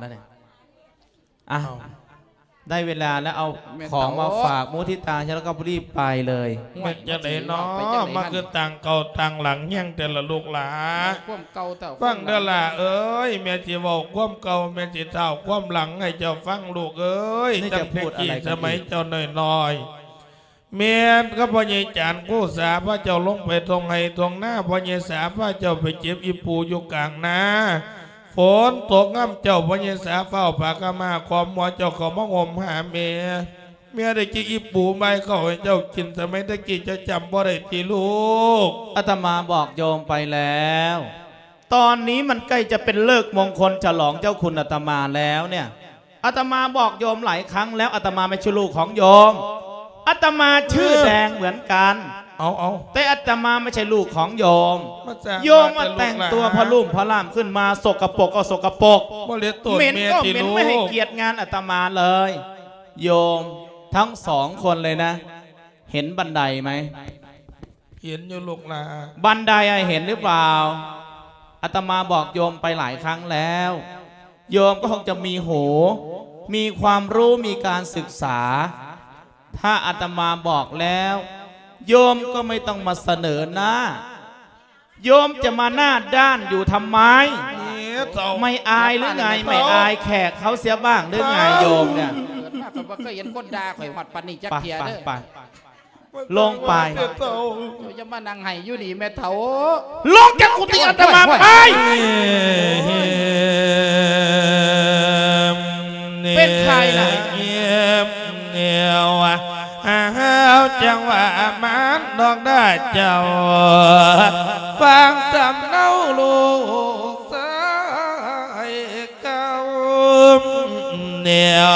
ແລ້ວນີ້ ອ້າວ ເອົາ ໄດ້ເວລາແລ້ວ ເອົາ ແມ່ນ ຂອງມາ ເຖົ້າ ຝາກມຸທິຕາ ແລ້ວກໍຣີບໄປເລີຍ. ແມ່ນຈັ່ງໃດເນາະ ມາຄືຕ່າງເກົ່າຕ່າງຫຼັງແຮງແຕ່ລະລູກຫຼາ. ຄວາມເກົ່າເຈົ້າ ຟັງເດີ້ຫຼ້າເອີຍ ແມ່ຊິເວົ້າຄວາມເກົ່າ ແມ່ຊິທ້າວຄວາມຫຼັງໃຫ້ເຈົ້າຟັງລູກເອີຍ. ຕັ້ງແຕ່ກີ້ສະໄໝເຈົ້ານ້ອຍໆ ແມ່ນກັບພໍ່ໃຫຍ່ຈານຄູສາພາເຈົ້າລົງໄປທົ່ງໄຮ່ທົ່ງນາ ພໍ່ໃຫຍ່ສາພາເຈົ້າໄປເກັບອີ່ປູຢູ່ກາງນາ ຝົນຕົກງາມ ເຈົ້າພໍ່ໃຫຍ່ສາຟ້າວຜ້າຂາວມ້າຄອມຫົວເຈົ້າເຂົ້າມາຫົ່ມຫາແມ່. ແມ່ໄດ້ເກັບອີ່ປູມາໃຫ້ເຂົ້າໃຫ້ເຈົ້າກິນ ສະໄໝແຕ່ກີ້ເຈົ້າຈຳບໍ່ໄດ້ຕິລູກ? ອາດຕະມາບອກໂຍມໄປແລ້ວ ຕອນນີ້ມັນໃກ້ຈະເປັນເລີກມົງຄົນສະຫຼອງເຈົ້າຄຸນອາດຕະມາແລ້ວເນ່ຍ. ອາດຕະມາບອກໂຍມຫຼາຍຄັ້ງແລ້ວ ອາດຕະມາໄມ່ໃຊ່ລູກຂອງໂຍມ. ອາດຕະມາຊື່ແດງເໝືອນກັນ ເອີ ເອົາໆ ແຕ່ອາດຕະມາໄມ່ໃຊ່ລູກຂອງໂຍມ. ມາສ້າງ ໂຍມມາແຕ່ງຕົວ ມາແຕ່ລູກຫຼານ ພະລຸ່ມພະລ່າມຂຶ້ນມາ ສົກກະປົກກໍສົກກະປົກ ບໍ່ເລີຍໂຕນ ເໝັນກໍເໝັນ ແມ່ຕິລູກ ໄມ່ໃຫ້ກຽດງານອາດຕະມາເລີຍ. ໂຍມທັງສອງຄົນເລີຍນະ ເຫັນບັນໄດໄໝ? ເຫັນຢູ່ລູກຫຼ້າ. ບັນໄດອະເຫັນຫຼືເປົ່າ? ອາດຕະມາບອກໂຍມໄປຫຼາຍຄັ້ງແລ້ວ ໂຍມກໍຄົງຈະມີຫູ ມີຄວາມຮູ້ ມີການສຶກສາ. ຖ້າອາດຕະມາບອກແລ້ວ ໂຍມກໍໄມ່ຕ້ອງມາສະເໜີໜ້າ. ໂຍມຈະມາໜ້າດ້ານຢູ່ທຳໄມ? ນີ້ເຖົ້າ ໄມ່ອາຍຫຼືໄງ? ໄມ່ອາຍແຂກເຂົາເສຍບ້າງຫຼືໄງໂຍມເນ່ຍ? ເກີດມາກໍບໍ່ເຄີຍເຫັນຄົນດ່າຂ້ອຍຮອດປານນີ້ຈັກເທື່ອເດີ້. ໄປໆ ໄປ ລົງໄປ. ເຈົ້າຢ່າມານັ່ງໄຫ້ຢູ່ນີ້ແມ່ເຖົ້າ. ລົງຈາກກຸຕິອາດຕະມາໄປ. ເປັນໃຜນະ? ອ້າວ ຈັ່ງວ່າມານດອກດາເຈົ້າ ຟັງສຳເນົາລູກຊາຍ ເກົ່າແນວ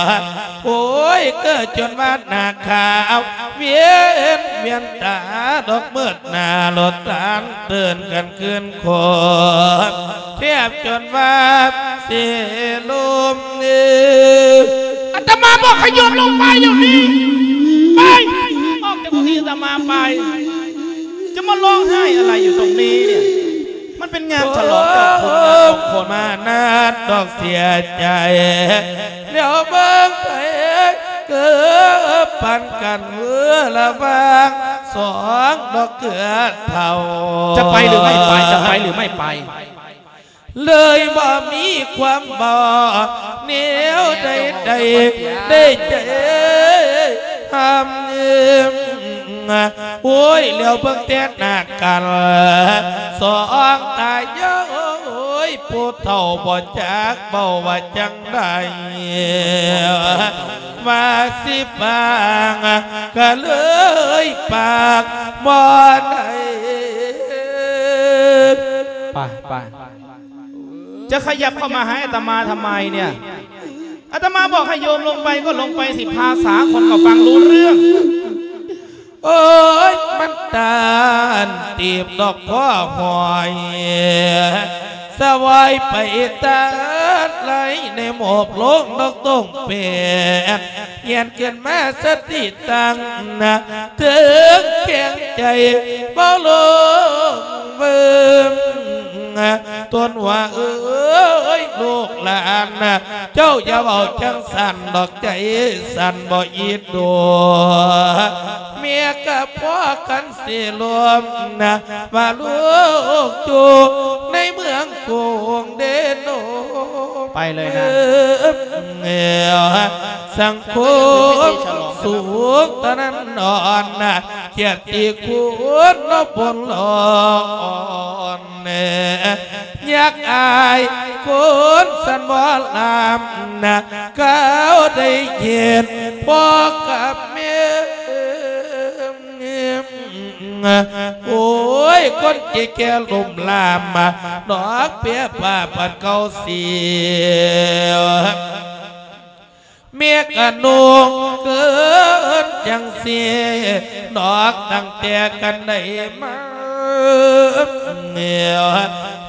ໂອ້ຍ ເກີດຈົນວ່າໜ້າຂາວ ວຽນ ວຽນຕາດອກມືດໜ້າ ລົດຕານເຕີນກັນຄືນຄົນ ແທບຈົນວ່າຊິລົ້ມເອີ. ອາດຕະມາບອກໃຫ້ໂຍມລົງໄປດຽວນີ້ ໄປ ອອກຈາກທີ່ອາດຕະມາໄປ ຈະມາຮ້ອງໄຫ້ອະໄລຢູ່ຕົງນີ້ເນ່ຍ? ມັນເປັນງານສະຫຼອງເຈົ້າຄຸນນາມງຄົນ ມານາດດອກເສຍໃຈ ແລ້ວເບິ່ງໄປເກີບປັນກັນເວີລະຫວ່າງສອງດອກເກືອເຖົ້າ. ຈະໄປຫຼືໄມ່ໄປ? ຈະໄປຫຼືໄມ່ໄປ? ເລີຍບໍ່ມີຄວາມບອກແນວໃດໆ ໄດ້ໃຈຫ້າມ. ໂອ້ຍ ແລ້ວເບິ່ງແຕ່ໜ້າກັນສອງຕາຍາຍ ໂອ້ຍ ຜູ້ເຖົ້າບໍ່ຈັກເວົ້າວ່າຈັ່ງໃດ ວ່າຊິປາງກະເລີຍປາກບໍ່ໄດ້. ໄປ ໄປ ຈະຂະຫຍັບເຂົ້າມາຫາອາດຕະມາທຳໄມເນ່ຍ? ອາດຕະມາບອກໃຫ້ໂຍມລົງໄປກໍລົງໄປຊິ ພາສາຄົນກໍຟັງຮູ້ເລື່ອງ. ໂອ້ຍ ມັນຕ້ານຕີບດອກພໍຫອຍ ສະຫວາຍໄປຕາດໄຫຼໃນໝົບລົງດອກຕົງແປດ ແຍນຂຶ້ນມາສະຕິຕັ້ງນະ ເຖິງແຂງໃຈບໍ່ລົງເບິ່ງ ຕົນວ່າເອີຍ ລູກຫຼານນະ ເຈົ້າຢ່າເວົ້າຈັ່ງຊັ້ນດອກ ໃຈສັ່ນບໍ່ອີດໂດ. ເມຍກະພໍ້ກັນຊິລົມນະ ວ່າລູກຢູ່ໃນເມືອງກຸງເດໂນ ໄປເລີຍນະ ສັງຄົມສຸກຕະນັນນອນນະ ກຽດຕິຄຸນເນາະບົນຫຼອນ ແນ່ ຢາກອາຍຄົນສັນບໍ່ລຳນະ ເຂົາໄດ້ເຫັນພໍ່ກັບແມ່ ໂອ້ຍ ຄົນແກ່ໆລົ້ມລາມ ດອກເປັຍຜ້າປັນເກົ່າສຽວ ແມ່ກະນຸ່ງເກີນຈັ່ງຊີ້ ນອກຕັ້ງແຕ່ກັນໄດ້ມາ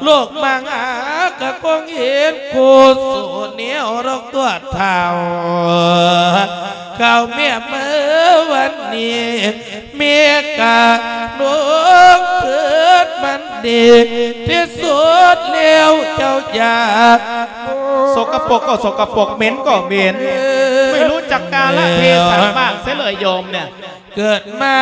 ໂລກມາຫາກະຄົງເຫັນຄູ່ສູ່ແນວດອກຕົວເຖົ້າ ເຂົ້າແມ່ເມື່ອວັນນີ້ ແມ່ກະນຸ່ງເກີນມັນດີທີ່ສຸດແລ້ວເຈົ້າຢ່າ ສະກະປົກກໍສະກະປົກ ເໝັນກໍເໝັນ ໄມ່ຮູ້ຈັກກາລະເທສະບ້າງເສຍເລີຍໂຍມເນຍ ເກີດມາ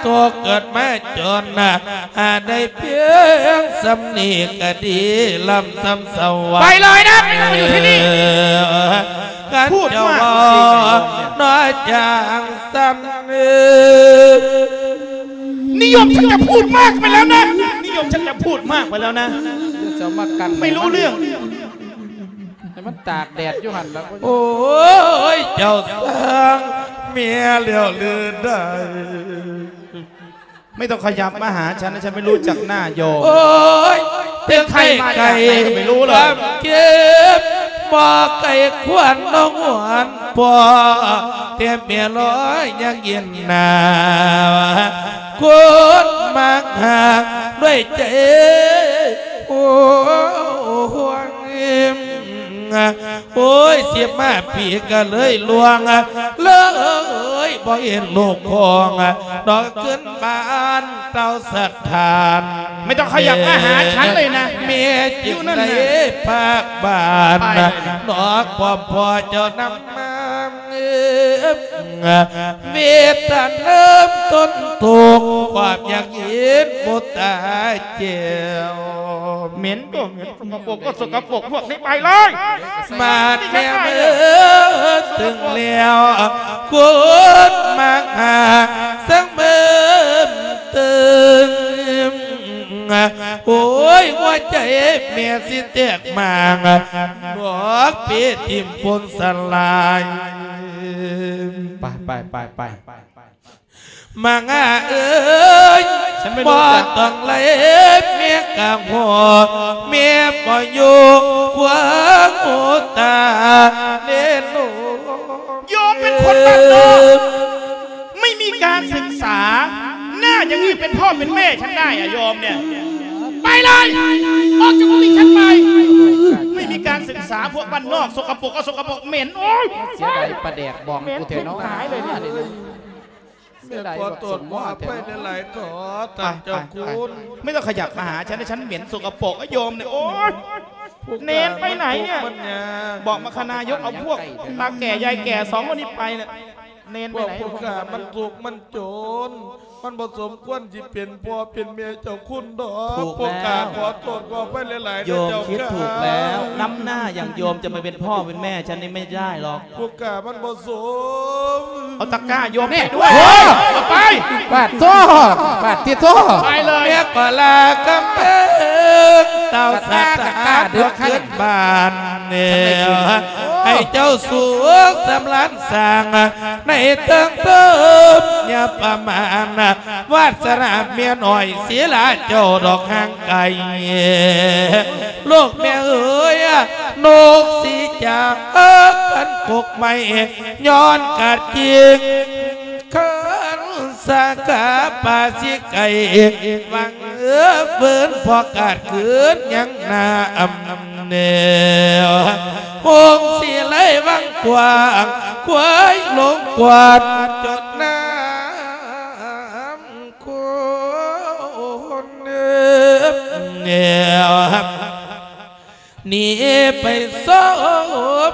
ຕົກ ເກີດມາຈົນນະ ຫາໄດ້ພຽງສ່ຳນີ້ກະດີ ລຳສ່ຳສະຫວັນ ໄປເລີຍນະ ໄປນອນຢູ່ທີ່ນີ້ ຄັນເຈົ້າເວົ້ານ້ອຍຈັ່ງຊັ້ນ นิยมชักจะพูดมากไปแล้วนะ นิยมชักจะพูดมากไปแล้วนะ ຈະມາກັນ ไม่รู้เรื่อง ໃຫ້ມັນຕາກແດດຢູ່ຫັ້ນລະ ໂອ້ຍ ເຈົ້າສ້າງເມຍແລ້ວຫຼືໃດ ไม่ต้องขยับมาหาฉันนะ ฉันไม่รู้จักหน้าโยม ໂອ້ຍ เป็นใครมาจากไหนก็ไม่รู้เลย ຄວາມເຈັບບໍ່ໄກຄວັນນ້ອງຫວນພໍ ແຕ່ແມ່ລອຍຍັງເຢັນໜາວ ຄົນມັກຫາກດ້ວຍໃຈ ໂອ້ຍ ໂອ້ຍ ສິບຫ້າປີກະເລີຍລ່ວງ ເລີຍບໍ່ເຫັນລູກຂອງ ດອກຂຶ້ນບ້ານເຕົ້າສະຖານ ไม่ต้องขยับมาหาฉันเลยนะ ແມ່ຈຶ່ງໄດ້ພາກບ້ານ ນອກຄວາມພໍ່ເຈົ້ານຳມາ ເວດຕາເລີ່ມຕົ້ນທຸກ ຄວາມຢາກເຫັນບຸດຕາແກ້ວ ເໝັນກໍເໝັນ ສະກະປົກກໍສະກະປົກ ພວກນີ້ໄປເລີຍ ມາດແນມເອີ ເຖິງແລ້ວ ຄົນມັກຫາກສັງເບິ່ມເຕີງ ໂອ້ຍ ຫົວໃຈແມ່ຊິແຕກໝາງ ດອກເປຖິ້ມປົນສະຫຼາຍ ໄປ ໄປ ໄປ ໄປ ມາງາເອີຍ ບໍ່ຕ້ອງໄລ່ແມ່ກະຫົວ ແມ່ບໍ່ຢູ່ຄວາມຫົວຕາເດໂນ โยมเป็นคนบ้านนอก ไม่มีการศึกษา หน้าอย่างนี้เป็นพ่อเป็นแม่ฉันได้อะโยมเนี่ย ไปเลย ออกจากกุฏิฉันไป ไม่มีการศึกษา พวกบ้านนอก สกปรกก็สกปรก เหม็น โอ๊ย ເສຍດາຍປາແດກບອງກູແທ້ເນາະ ເສຍດາຍບັກສົມໝໍ້ແທ້ເນາະ ໄປ ໄປ ໄປ ไม่ต้องขยับมาหาฉันนะ ฉันเหม็นสกปรก โยมเนี่ย โอ๊ย เณรไปไหนเนี่ย บอกมคณายกเอาพวกตาแก่ยายแก่สองคนนี้ไปเนี่ย เณรไปไหน ພວກຜູ້ຂ້າມັນທຸກມັນຈົນ ມັນບໍ່ສົມຄວນຊິເປັນພໍ່ເປັນແມ່ເຈົ້າຄຸນດອກ ພວກຂ້າຂໍໂທດຂໍອະໄພຫຼາຍໆ ໂຍມ ເຈົ້າ ຄິດຖືກແລ້ວ ນຳໜ້າຢ່າງໂຍມຈະມາເປັນພໍ່ເປັນແມ່ ອັນນີ້ບໍ່ໄດ້ດອກ ພວກຂ້າມັນບໍ່ສົມ ເອົາຕະກ້າໂຍມໄປດ້ວຍ ເອົາໄປ ປາດໂທ້ ປາດຕິໂທ້ ໄປເລີຍ ແມ່ກໍລາກຳເພິງ ເຕົ້າສັດຕະອາດ ເດີນຂຶ້ນບ້ານ ແນວ ໃຫ້ເຈົ້າສຸກສຳລານສ້າງ ໃນເທິງເທີມຢ່າປະມານ ວາດສະໜາເມຍນ້ອຍສີລາເຈົ້າດອກຫ່າງໄກ ລູກແມ່ເອີຍ ນົກສີຈາກກັນກົກໄມ້ ຍ້ອນກາດກິງ ຄັນສາກາປາສີໄກ່ ຫວັງເອີເຟີນພໍກາດຄືນຍັງນ້ຳແນວ ຫົງສີໄຫຼວັງກວ້າງ ຄວາຍລົງກວາດຈົດນ້ຳ ຄົນເອີແນວ ໜີໄປສົບ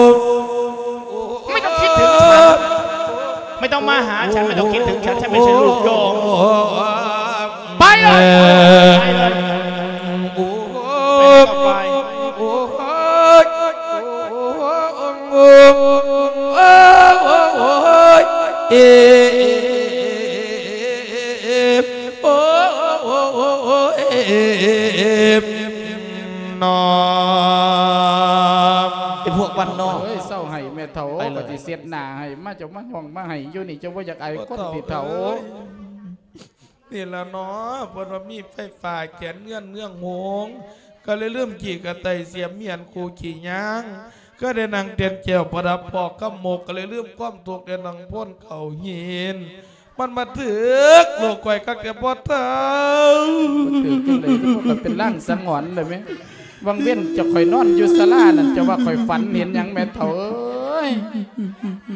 ไม่ต้องคิดถึงฉัน ไม่ต้องมาหาฉัน ไม่ต้องคิดถึงฉัน ฉันไม่ใช่ลูกโยม ไปเลย ไปเลย ไปไหนก็ไป ນອກ ໄອ້ພວກບ້ານນອກ ເອີຍ ເຊົາໄຫ້ແມ່ເຖົ້າ ໄປເລີຍ ກໍຊິເຊັດໜ້າໃຫ້ ມາເຈົ້າມາຮ້ອງມາໄຫ້ຢູ່ນີ້ ເຈົ້າບໍ່ຢາກອາຍຄົນຕິເຖົ້າ ໂອ້ຍ ນີ້ລະເນາະ ເພິ່ນວ່າມີໄຟຟ້າແຂນເງິນເມືອງຫົງ ກໍເລີຍລືມຂີ້ກະໄຕສຽມມຽນຄູ່ຂີ້ຍາງ ກໍໄດ້ນັ່ງແຕ່ນແກ້ວປະດັບພອກຄຳມົກ ກໍເລີຍລືມຄວາມທຸກໄດ້ນັ່ງພົນເຂົ້າຫີນ ມັນມາຖືກລູກຂ້ອຍຄັກແທ້ພໍ່ເຖົ້າ ມັນຖືກຈັ່ງໃດ ຄືວ່າຂ້ອຍເປັນລາງສັງຫອນເລີຍແມະ ຫວ່າງເວັນເຈົ້າຂ້ອຍນອນຢູ່ສາລານັ້ນ ເຈົ້າວ່າຂ້ອຍຝັນເຫັນຫຍັງແມ່ເຖົ້າເອີຍ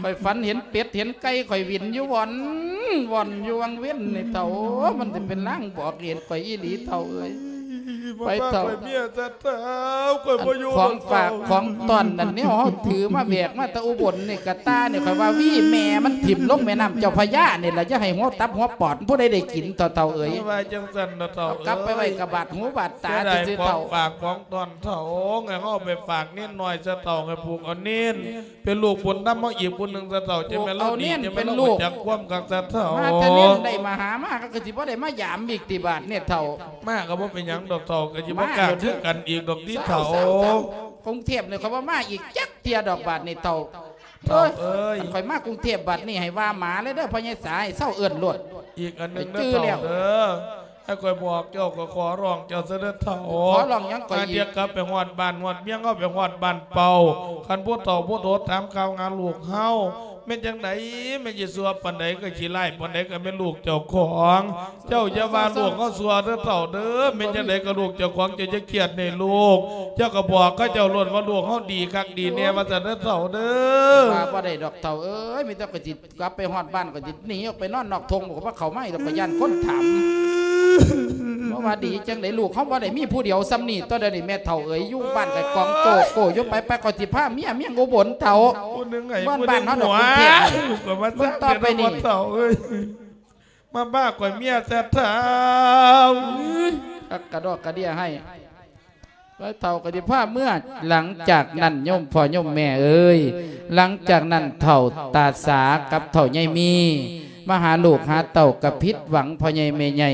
ຂ້ອຍຝັນເຫັນເປັດເຫັນໄກ່ ຂ້ອຍວິນຢູ່ວ່ອນ ວ່ອນຢູ່ຫວ່າງເວັນນີ້ເຖົ້າ ມັນຊິເປັນລາງບອກເຫດຂ້ອຍອີ່ຫຼີເຖົ້າເອີຍ ໄປເຖົ້າ ຂ້ອຍເມຍຊະເຖົ້າ ຂ້ອຍບໍ່ຢູ່ ອັນຂອງຝາກຂອງຕ້ອນນັ້ນ ແນວເຮົາຖືມາແບກມາແຕ່ອຸບົນນີ້ ກະຕ່ານີ້ ຂ້ອຍວ່າຫວີແມ່ມັນຖິ້ມລົງແມ່ນ້ຳເຈົ້າພະຍານີ້ລະ ຢ່າໃຫ້ຫົວຕັບຫົວປອດ ຜູ້ໃດໄດ້ກິນເຖົ້າເອີຍ ວ່າຈັ່ງຊັ້ນເຖົ້າ ເອົາກັບໄປໄວ້ກັບບາດຫູບາດຕາຊື່ໆເຖົ້າ ຂອງຝາກຂອງຕ້ອນເຖົ້າ ໃຫ້ເຮົາໄປຝາກເນນນ້ອຍຊະເຖົ້າ ໃຫ້ຜູກເອົາເນນ ເປັນລູກບຸນນຳເຮົາອີກຜູ້ໜຶ່ງຊະເຖົ້າ ຈັ່ງແມ່ນລາວດີ ຈັ່ງແມ່ນລາວຮູ້ຈັກຄວາມຄັກຊະເຖົ້າ ມາແຕ່ເນນໄດ້ມະຫາມາ ກໍຄືຊິບໍ່ໄດ້ມາຢາມອີກຕິບາດນີ້ເຖົ້າ ມາກໍບໍ່ເປັນຫຍັງດອກເຖົ້າ ກໍຊິບໍ່ກ້າຄືກັນອີກດອກຕິເຖົ້າ ກຸງເທບນີ້ຂ້ອຍບໍ່ມາອີກຈັກເທື່ອດອກບາດນີ້ເຖົ້າ ເຖົ້າເອີຍ ຄັນຂ້ອຍມາກຸງເທບບາດນີ້ໃຫ້ວ່າໝາເລີຍເດີ ພໍ່ໃຫຍ່ສາ ເຊົາເອີ້ນໂລດ ອີກອັນໜຶ່ງເດີເຖົ້າເດີ ໃຫ້ຂ້ອຍບອກເຈົ້າ ກໍຂໍຮ້ອງເຈົ້າຊະເດີເຖົ້າ ຂໍຮ້ອງຫຍັງກໍອີກ ເຮົາກັບໄປຮອດບ້ານຮອດເມືອງ ເຮົາໄປຮອດບ້ານເປົ່າ ຄັນຜູ້ເຖົ້າຜູ້ໂຕຖາມຂ່າວຫາລູກເຮົາ ແມ່ນຈັ່ງໃດ ແມ່ນຊິຊົ່ວປານໃດ ກໍຂີ້ຮ້າຍປານໃດ ກໍແມ່ນລູກເຈົ້າຂອງ ເຈົ້າຢ່າວ່າລູກເຮົາຊົ່ວເດີເຖົ້າເດີ ແມ່ນຈັ່ງໃດກໍລູກເຈົ້າຂອງ ເຈົ້າຢ່າຄຽດໃຫ້ລູກ ເຈົ້າກໍບອກເຂົາເຈົ້າໂລດວ່າລູກເຮົາດີຄັກດີແນ່ ວ່າຊັ້ນເດີເຖົ້າເດີ ວ່າບໍ່ໄດ້ດອກເຖົ້າເອີຍ ມີແຕ່ຂ້ອຍຊິ ກັບໄປຮອດບ້ານກໍຊິໜີອອກໄປນອນນອກທົ່ງ ບໍ່ເຂົ້າມາດອກ ຂ້ອຍຢ້ານຄົນຖາມ ເພາະວ່າດີຈັ່ງໃດ ລູກເຮົາບໍ່ໄດ້ມີຜູ້ດຽວສ່ຳນີ້ ຕອນດຽວນີ້ແມ່ເຖົ້າເອີຍ ຢູ່ບ້ານກໍກອງໂຈໂກຢູ່ ໄປໆ ຂ້ອຍຊິພາເມຍເມືອງອຸບົນເຖົ້າ ບ້ານເຮົາດອກກຸງເທບ ເບິ່ງຕໍ່ໄປນີ້ ມາບ້າຂ້ອຍເມຍແທ້ເຖົ້າ ຄັກກະດອກກະເດຍໃຫ້ ໄປເຖົ້າກໍຊິພາເມືອ ຫຼັງຈາກນັ້ນໂຍມພໍ່ໂຍມແມ່ເອີຍ ຫຼັງຈາກນັ້ນເຖົ້າຕາສາກັບເຖົ້າໃຫຍ່ມີ ມາຫາລູກຫາເຕົ້າກໍຜິດຫວັງພໍ່ໃຫຍ່ແມ່ໃຫຍ່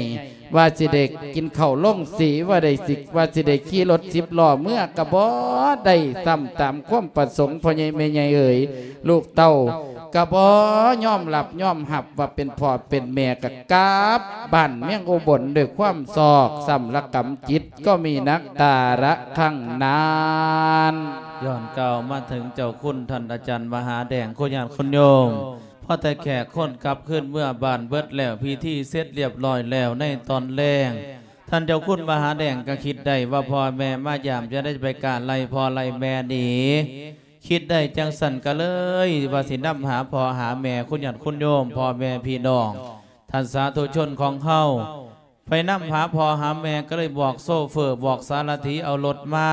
ວ່າຊິໄດ້ກິນເຂົ້າລົງສີ ວ່າໄດ້ຊິ ວ່າຊິໄດ້ຂີ່ລົດສິບລໍ້ເມືອກໍບໍ່ໄດ້ຊ້ຳຕາມຄວາມປະສົງພໍ່ໃຫຍ່ແມ່ໃຫຍ່ເອີຍ ລູກເຕົ້າກໍບໍ່ຍອມຮັບຍອມຮັບວ່າເປັນພໍ່ເປັນແມ່ ກໍກັບບ້ານເມືອງອຸບົນດ້ວຍຄວາມຊອກຊ້ຳລະກຳຈິດ ກໍມີໜັກຕາລະຄັ້ງນັ້ນ. ຍ້ອນກ່າວມາເຖິງເຈົ້າຄຸນທ່ານອາຈານມະຫາແດງ ຄຸນຍາດຄຸນໂຍມ ພໍແຕ່ແຂກຄົນກັບຄືນເມືອບ້ານເບິດແລ້ວ ພິທີເສັດລຽບຮ້ອຍແລ້ວໃນຕອນແລງ ທ່ານເຈົ້າຄຸນມະຫາແດງກໍຄິດໄດ້ວ່າພໍ່ແມ່ມາຢາມ ຈະໄດ້ໄປການໄລ່ພໍ່ໄລ່ແມ່ໜີ ຄິດໄດ້ຈັ່ງຊັ້ນກໍເລີຍວ່າຊິນຳຫາພໍ່ຫາແມ່ ຄຸນຍາດຄຸນໂຍມ ພໍ່ແມ່ພີ່ນ້ອງ ທ່ານສາທຸຊົນຂອງເຮົາ ໄປນຳຫາພໍ່ຫາແມ່ ກໍເລີຍບອກໂຊເຟີບອກສາລະຖີເອົາລົດມາ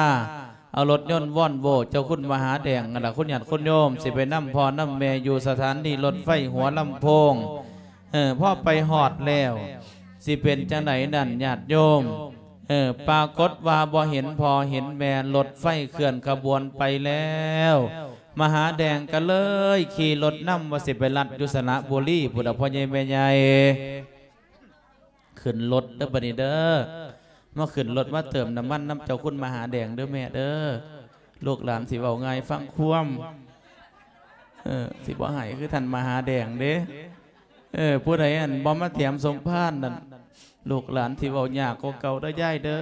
ເອົາລົດຍົນວອນໂວ້ເຈົ້າຄຸນມະຫາແດງຫັ້ນລະ ຄຸນຍາດຄຸນໂຍມ ຊິໄປນຳພໍ່ນຳແມ່ຢູ່ສະຖານີລົດໄຟຫົວລຳໂພງ ເອີ ພໍໄປຮອດແລ້ວ ຊິເປັນຈັ່ງໃດນັ້ນຍາດໂຍມ ເອີ ປາກົດວ່າບໍ່ເຫັນພໍ່ເຫັນແມ່ ລົດໄຟເຄື່ອນຂະບວນໄປແລ້ວ ມະຫາແດງກໍເລີຍຂີ່ລົດນຳວ່າຊິໄປລັດຢູ່ສະລະບູລີພຸ້ນລະ ພໍ່ໃຫຍ່ແມ່ໃຫຍ່. ຂຶ້ນລົດເດີບັດນີ້ເດີ ມາຂຶ້ນລົດມາເຕີມນ້ຳມັນນຳເຈົ້າຄຸນມະຫາແດງເດີແມ່ເດີ. ລູກຫຼານຊິເວົ້າງ່າຍຟັງຄວາມ ເອີ ຊິບໍ່ໃຫ້ຄືທ່ານມະຫາແດງເດ້. ເອີ ຜູ້ໃດອັນບໍ່ມາແຖມສົມພານນັ້ນ ລູກຫຼານຊິເວົ້າຍາກກວ່າເກົ່າເດີຍາຍເດີ.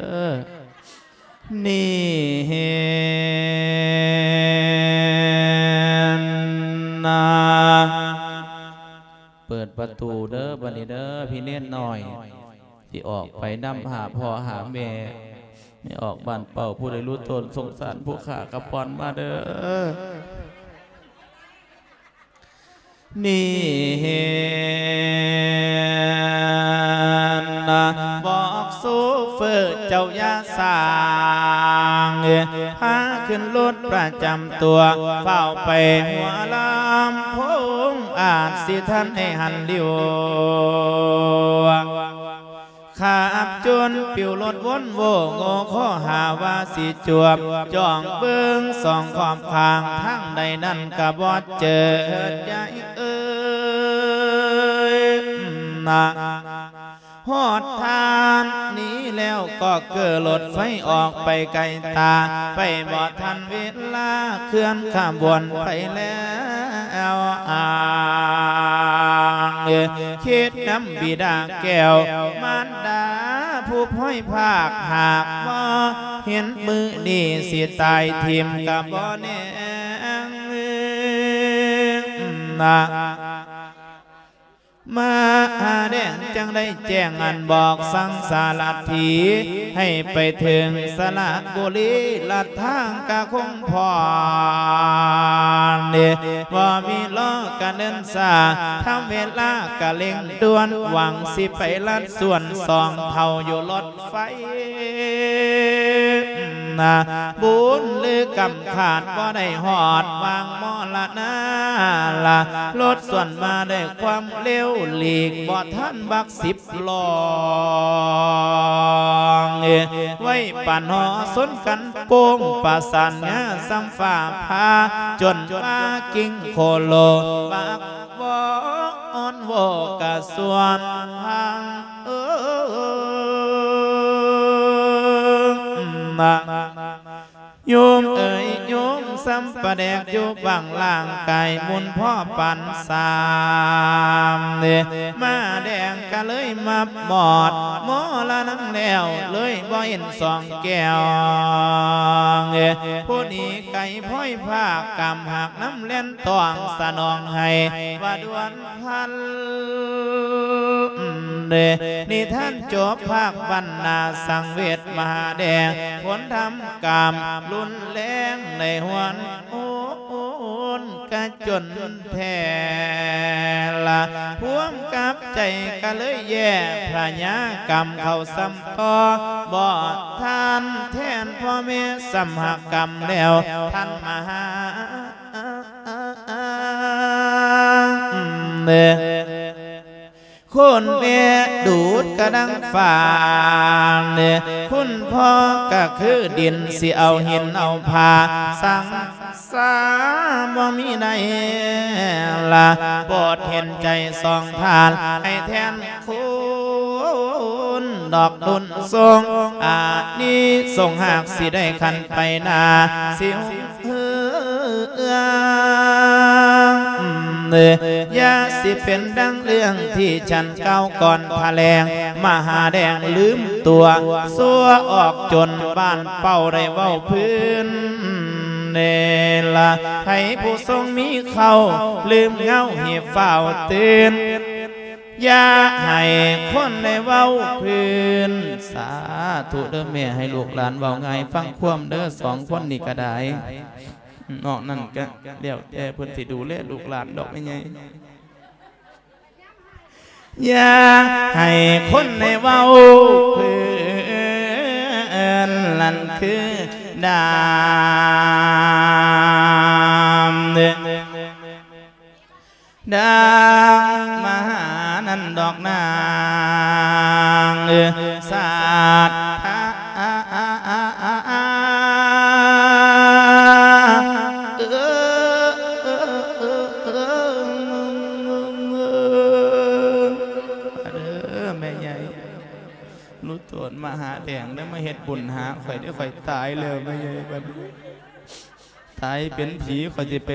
ນີ້ເຫັນນະ ເປີດປະຕູເດີບັດນີ້ເດີ ພີ່ເນນນ້ອຍ ຊິອອກໄປນຳຫາພໍ່ຫາແມ່ ໃຫ້ອອກບ້ານເປົ້າ ຜູ້ໃດຮູ້ຕົນສົງສານຜູ້ຂ້າກະປ່ອນມາເດີ. ນີ້ເຫັນນະ ບອກໂຊເຟີເຈົ້າຢ່າສ້າງ ພາຂຶ້ນລົດປະຈຳຕົວ ຟ້າວໄປຫົວລຳໂພງ ອາດຊິທັນໃຫ້ຫັນລິວ. ຂັບຈົນປິວລົດວົນໂວ້ໂງ່ ຂໍຫາວ່າຊິຈວບ ຈ້ອງເບິ່ງສອງຂອບຂ້າງ ທາງໃດນັ້ນກະບໍ່ເຈີ ຍາຍເອີຍນະ. ຮອດທ່ານນີ້ແລ້ວກໍເກີລົດໄຟອອກໄປໄກຕາ ໄປບໍ່ທັນເວລາ ເຄື່ອນຂະບວນໄປແລ້ວ ອ້າງ ຄິດນຳບິດາແກ້ວມານດາ ຜູ້ພອຍພາກ ຫາກບໍ່ເຫັນມື້ນີ້ ຊິຕາຍຖິ້ມກະບໍ່ແນ່ນະ. ມະຫາແດງຈຶ່ງໄດ້ແຈ້ງອັນບອກສັ່ງສາລະຖີ ໃຫ້ໄປເຖິງສະລະບູລີ ລັດທາງກະຄົງພ້ອນ ບໍ່ມີລໍກະເນີນຊ້າ ທຳເວລາກະເລັ່ງດ່ວນ ຫວັງຊິໄປລັດສວນສອງເຖົ້າຢູ່ລົດໄຟ ນະ ບຸນຫຼືກຳຂາດບໍ່ໄດ້ຮອດຫວ່າງມໍລະນາລະ ລົດສວນມາດ້ວຍຄວາມເລັວ ຫຼີກບໍ່ທັນບັກສິບລ້ອງ ໄວ້ປານຫໍຊົນກັນໂປ້ງ ປະສານງາສ່ຳຟ້າຜ່າ ຈົນວ່າກິ້ງໂຄໂລ ປາກວອນວໍກະສວນທາງ ເອີ ນະ ໂຍມເອີຍ ໂຍມສ່ຳປາແດກຢູ່ບັງລ່າງກາຍບຸນພໍປານສາມ ມະຫາແດງກະເລີຍມາບອດ ມໍລະນາງແລ້ວ ເລີຍບໍ່ເຫັນສອງແກ້ວ ຜູ້ໜີໄກພອຍພາກ ກຳຫາກນຳແລ່ນຕ້ອງສະໜອງໃຫ້ວ່າດ່ວນ ພັນ ເດ ນິທານຈົບພາກບັນນາສັງເວດມະຫາແດງ ຜົນທຳກຳລຸນແລງໃນຫວນໂອນກະຈົນແທ້ລະ ພວມກັບໃຈກະເລີຍແຍ່ພະຍາກຳເຂົ້າຊ້ຳຕໍ່ ບໍ່ທານແທນພໍ່ແມ່ຊ້ຳຫັກກຳແລ້ວ ທ່ານມະຫາ ຄຸນແມ່ດູດກະດັງຟ້າ ຄຸນພໍ່ກະຄືດິນ ຊິເອົາຫີນເອົາຜາ ສັງສາບໍ່ມີໃດລະ ໂປດເຫັນໃຈສອງທ່ານ ໃຫ້ແທນຄຸນດອກດຸນຊົງ ອານິສົງຫາກຊິໄດ້ຂັນໄປໜ້າ ຊິ ເອີ ຢ່າຊິເປັນດັ່ງເລື່ອງທີ່ສັນກ່າວກ່ອນພະແລງ ມະຫາແດງລືມຕົວ ຊົ່ວອອກຈົນບ້ານເປົ້າໄດ້ເວົ້າພື້ນເນລະ ໃຜຜູ້ຊົງມີເຂົ້າ ລືມເຫງົາໃຫ້ຟ້າວຕື່ນ ຢ່າໃຫ້ຄົນໄດ້ເວົ້າພື້ນ. ສາທຸເດີແມ່ ໃຫ້ລູກຫຼານເວົ້າງ່າຍຟັງຄວາມເດີ ສອງຄົນນີ້ກະໄດ້ ນອກນັ້ນກະແລ້ວແຕ່ເພິ່ນຊິດູແລລູກຫຼານດອກແມ່ໃຫຍ່. ຢ່າໃຫ້ຄົນໄດ້ເວົ້າພື້ນ ນັ້ນຄືດາມ ດາງມະຫານັ້ນດອກນາງ ສາດທາ ເອີ ລູກໂຕນມະຫາແດງ ໄດ້ມາເຮັດບຸນຫາຂ້ອຍເດ້ ຂ້ອຍຕາຍແລ້ວ ແມ່ໃຫຍ່ ບັດນີ້ຕາຍເປັນຜີ ຂ້ອຍຊິໄປ